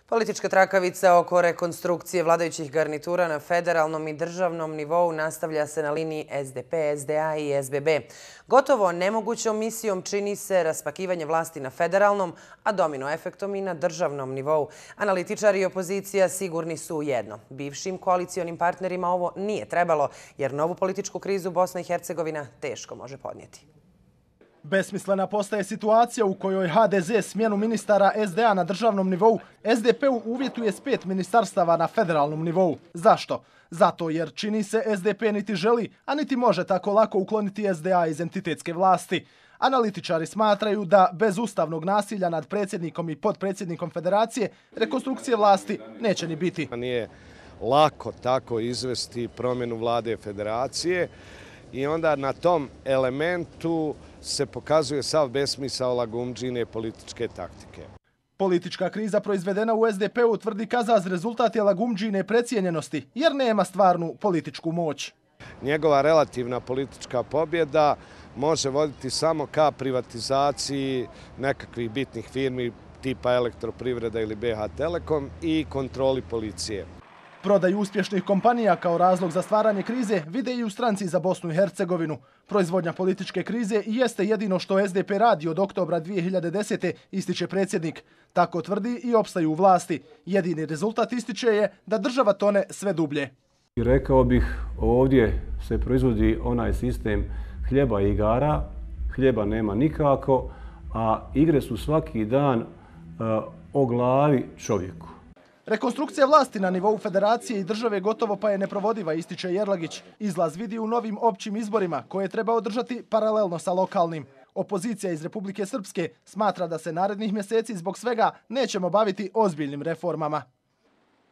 Politička trakavica oko rekonstrukcije vladajućih garnitura na federalnom i državnom nivou nastavlja se na liniji SDP, SDA i SBB. Gotovo nemogućom misijom čini se raspakivanje vlasti na federalnom, a domino efektom i na državnom nivou. Analitičari i opozicija sigurni su u jedno. Bivšim koalicionim partnerima ovo nije trebalo, jer novu političku krizu Bosna i Hercegovina teško može podnijeti. Besmislena postaje situacija u kojoj HDZ smjenu ministara SDA na državnom nivou SDP-u uvjetuje s 5 ministarstava na federalnom nivou. Zašto? Zato jer čini se SDP niti želi, a niti može tako lako ukloniti SDA iz entitetske vlasti. Analitičari smatraju da bez ustavnog nasilja nad predsjednikom i potpredsjednikom federacije rekonstrukcije vlasti neće ni biti. Nije lako tako izvesti promjenu vlade federacije i onda na tom elementu se pokazuje sav besmisao lagumdžine političke taktike. Politička kriza proizvedena u SDP-u, tvrdi Kazaz, rezultat je lagumdžine precijenjenosti jer nema stvarnu političku moć. Njegova relativna politička pobjeda može voditi samo ka privatizaciji nekakvih bitnih firmi tipa Elektroprivreda ili BH Telekom i kontroli policije. Prodaju uspješnih kompanija kao razlog za stvaranje krize vide i u Stranci za Bosnu i Hercegovinu. Proizvodnja političke krize i jeste jedino što SDP radi od oktobra 2010. ističe predsjednik. Tako tvrdi i opstaju u vlasti. Jedini rezultat, ističe, je da država tone sve dublje. Rekao bih, ovdje se proizvodi onaj sistem hljeba i igara. Hljeba nema nikako, a igre su svaki dan o glavi čovjeku. Rekonstrukcija vlasti na nivou federacije i države gotovo pa je neprovodiva, ističe Jerlagić. Izlaz vidi u novim općim izborima koje treba održati paralelno sa lokalnim. Opozicija iz Republike Srpske smatra da se narednih mjeseci zbog svega nećemo baviti ozbiljnim reformama.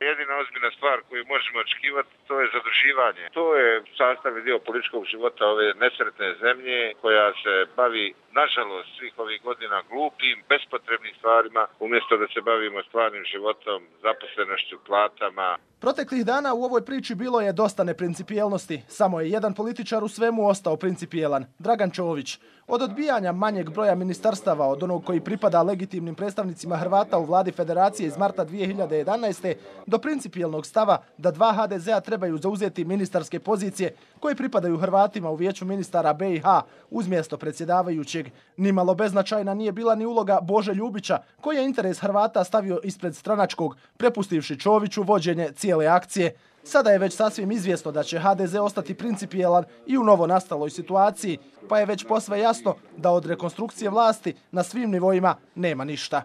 Jedina ozbiljna stvar koju možemo očekivati to je zaduživanje. To je sastavni dio političkog života ove nesretne zemlje koja se bavi, nažalost, svih ovih godina glupim, bespotrebnim stvarima, umjesto da se bavimo stvarnim životom, zaposlenošću, platama. Proteklih dana u ovoj priči bilo je dosta neprincipijelnosti. Samo je jedan političar u svemu ostao principijelan, Dragan Čović. Od odbijanja manjeg broja ministarstava, od onog koji pripada legitimnim predstavnicima Hrvata u vladi federacije iz marta 2011. do principijelnog stava da 2 HDZ-a trebaju zauzeti ministarske pozicije koje pripadaju Hrvatima u vijeću ministara BiH uz mjesto predsjedavajućeg. Nimalo beznačajna nije bila ni uloga Bože Ljubića, koji je interes Hrvata stavio ispred stranačkog, prepustivši Čoviću vođenje cijele akcije. Sada je već sasvim izvjesno da će HDZ ostati principijelan i u novo nastaloj situaciji, pa je već posve jasno da od rekonstrukcije vlasti na svim nivoima nema ništa.